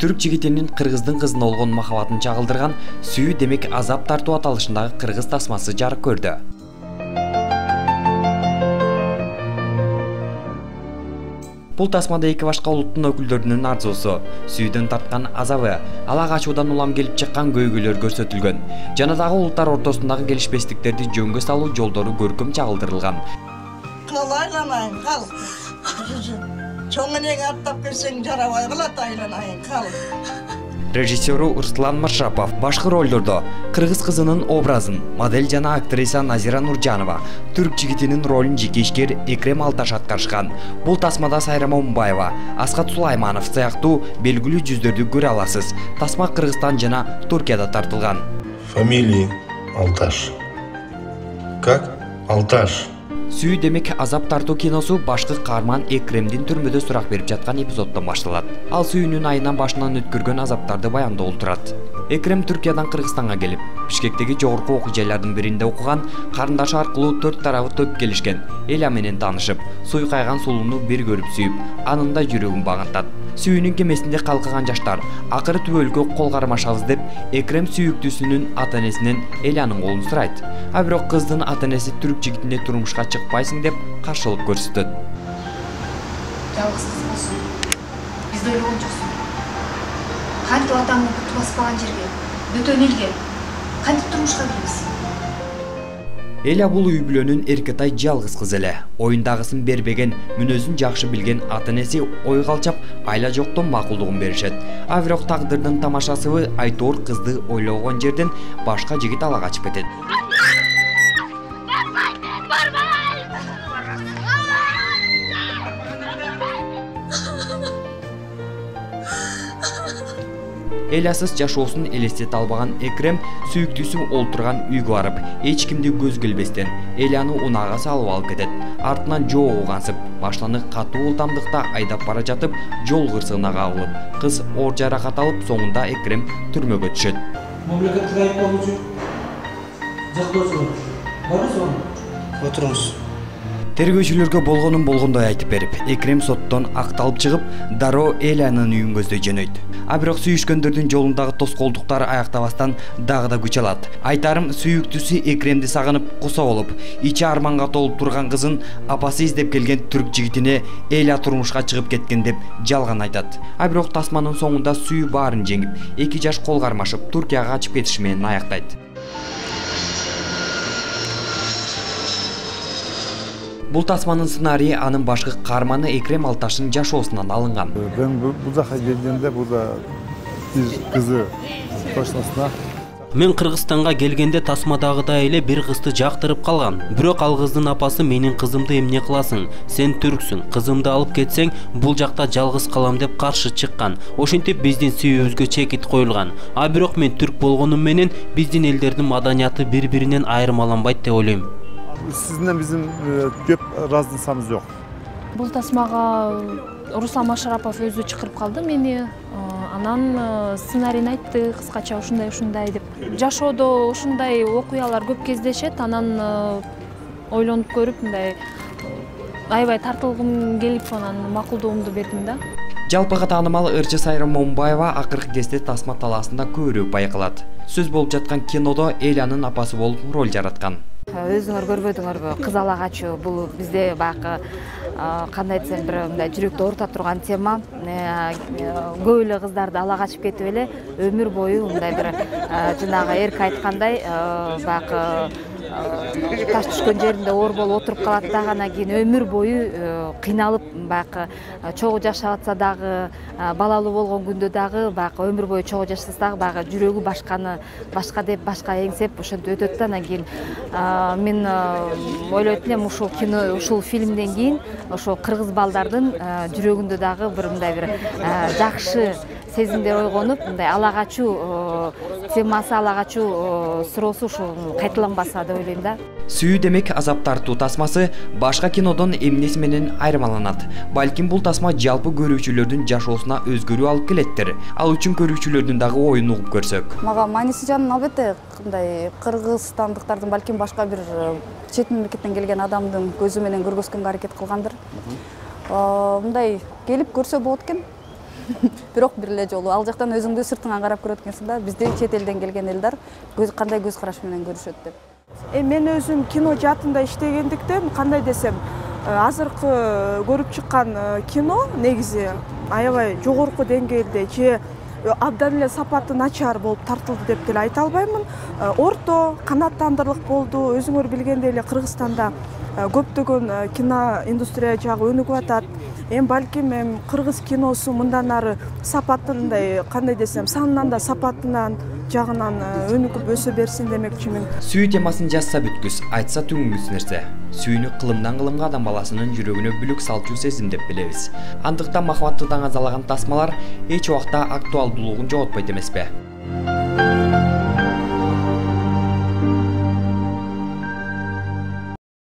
Түрк жигитинин кыргыздын кызына болгон махабатын чагылдырган «Сүйүү демек азап тартуу» аталышындагы кыргыз тасмасы жарык көрдү. Бул тасмада эки башка улуттун өкүлдөрүнүн арзуусу, сүйүүдөн тарткан азабы, ала качуудан улам келип чыккан көйгөйлөр көрсөтүлгөн. Жана дагы улуттар ортосундагы келишпестиктерди жөнгө салуу жолдору көркөм чагылдырылган. Кал айланайын, кал. Чоң энең аттап келсең жарабай калат, айланайын, кал. Режиссеру Руслан Маршапов башкы ролдордо кыргыз кызынын образын модель жана актриса Назира Нуржанова, түрк жигитинин ролун жеке ишкер Экрем Алташ аткарышкан. Бул тасмада Сайра Момунбаева, Аскат Сулайманов сыяктуу белгилүү жүздөрдү көрө аласыз. Тасма Кыргызстан жана Туркияда тартылган. Фамилия Алташ. Как? Алташ. «Сүйүү демек азап тартуу» киносу башкы каарман Экремдин түрмөдө сурак берип жаткан эпизоддон башталат. Ал сүйүүнүн айынан башынан өткөргөн азаптарды баяндоолу турат. Экрем Түркиядан Кыргызстанга келип, Бишкектеги жогорку окуу жайлардын биринде окуган, карындашы аркылуу төрт тарабы төп келишкен Эля менен таанышып, суйкайган сулууну бир көрүп сүйүп, анын да жүрөгүн багынтат. Сүйүүнүн кемесинде калкыган жаштар акыры түбөлүккө кол кармашабыз деп Экрем сүйүктүүсүнүн ата-энесинен Элянын колун сурайт. А бирок кыздын ата-энеси түрк жигитине турмушка чыкпайсың деп каршылык көрсөтөт. Жалгыз кыз болсун, бизди ойлогон жоксуң. Кантип атаңдын куту баспаган жерге, бөтөн элге кантип турмушка киребиз? Эля бул үй бүлөнүн эркетай жалгыз кызы эле. Оюндагысын бербеген, мүнөзүн жакшы билген ата-энеси ой калчап, айла жоктон макулдугун беришет. А бирок тагдырдын тамашасы айтоор кызды ойлогон жерден башка жигит ала качып кетет. Элясыз жашоосун элестете албаган Экрем сүйүктүүсү олтурган үйгө барып, эч кимди көз келбестен Эляны унаага салып алып кетет. Артынан жоо угансып, машинаны катуу ылдамдыкта айдап бара жатып, жол кырсыгына кагылып, кыз оор жаракат алып, соңунда Экрем түрмөгө түшөт. Мамлекеттик айыпталуучу жактоочу барбы? Отуруңуз. Тергөөчүлөргө болгонун болгондой айтып берип, Экрем соттон акталып чыгып, дароо Элянын үйүн көздөй жөнөйт. А бирок сүйүшкөндөрдүн жолундагы тоскоолдуктар аяктабастан дагы да күч алат. Айтарым, сүйүктүүсү Экремди сагынып кусо болуп, ичи арманга толуп турган кызын апасы издеп келген түрк жигитине Эля турмушка чыгып кеткен деп жалган айтат. А бирок тасманын соңунда сүйүү баарын жеңип, эки жаш кол кармашып Туркияга качып кетиши менен аяктайт. Бул тасманын сценарийи анын башкы каарманы Экрем Алташтын жашоосунан алынган. Мен бул жака келгенде буда бир кызы тошносуна. Мен Кыргызстанга келгенде тасмадагыдай эле бир кызды жактырып калган. Бирок ал кыздын апасы менин кызымды эмне кыласың? Сен түрксүң, кызымды алып кетсең, бул жакта жалгыз калам деп каршы чыккан. Ошентип биздин сүйүүбүзгө чекит коюлган. А бирок мен түрк болгонум менен биздин элдердин маданияты бири-биринен айырмаланбайт деп ойлойм. Сизден биздин көп ыраазычылыгыбыз жок. Бул тасмага Руслан Маршапов өзү чакырып калды мени. Анан сценарийин айтты, кыскача ушундай деп. Жашоодо ушундай окуялар көп кездешет. Анан ойлонуп көрүп, мындай аябай тартылгым келип, анан макулдугумду бердим да. Жалпыга таанымал ырчы Сайра Момунбаева акыркы кезде тасма талаасында көбүрөөк байкалат. Сөз болуп жаткан кинодо Элянын апасы болуп роль жараткан. Өзүңөр көрбөдүңөрбү? Кыз ала качуу бул бизде баягы кандай десем бир мындай жүрөктү оорута турган тема. Көп эле кыздарды ала качып кетип эле өмүр бою мындай бир жанагы эрк айткандай баягы таш түшкөн жеринде оор болуп отуруп калат дагы, анан кийин өмүр бою кыйналып баягы чогуу жашап атса дагы, балалуу болгон күндө дагы баягы өмүр бою чогуу жашаса дагы баягы жүрөгү башка деп башка эңсеп ошентип өтөт да. Анан кийин мен ойлойт элем ушул кино, ушул фильмден кийин ошо кыргыз балдардын жүрөгүндө дагы бир мындай бир жакшы сезимдер ойгонуп, мындай ала качуу темасы, ала качуу суроосу ушул кайталанбаса деп ойлойм да. Сүйүү демек азап тартуу тасмасы башка кинодон эмнеси менен айырмаланат? Балким бул тасма жалпы көрүүчүлөрдүн жашоосуна өзгөрүү алып келеттир. Ал үчүн көрүүчүлөрдүн дагы оюн угуп көрсөк. Мага мааниси жагынан албетте мындай кыргызстандыктардын балким башка бир чет мамлекеттен келген адамдын көзү менен көргөзгөнгө аракет кылгандыр. Мындай келип көрсө болот экен. бирок бир эле жолу ал жактан өзүңдү сыртыңан карап көрөт экенсиң да, бизди чет элден келген элдер кандай көз караш менен көрүшөт деп. Мен өзүм кино жаатында иштегендиктен кандай десем, азыркы көрүп чыккан кино негизи аябай жогорку деңгээлде же абдан эле сапаты начар болуп тартылды деп деле айта албаймын. Орто канааттандырлык болду. Өзүңөр билгендей эле Кыргызстанда көптөгөн кино индустрия жагы өнүгүп атат. Балким кыргыз киносу мындан ары сапатындай, кандай десем, санынан да сапатынан жагынан өнүгүп өсө берсин демекчимин. Сүйүү темасын жазса бүткүс, айтса түңүңүз нерсе. Сүйүүнү кылымдан кылымга адам баласынын жүрөгүнө бүлүк салчу сезим деп билебиз. Андыктан махабатты даңазалаган тасмалар эч убакта актуалдуулугун жоготпойт эмеспи?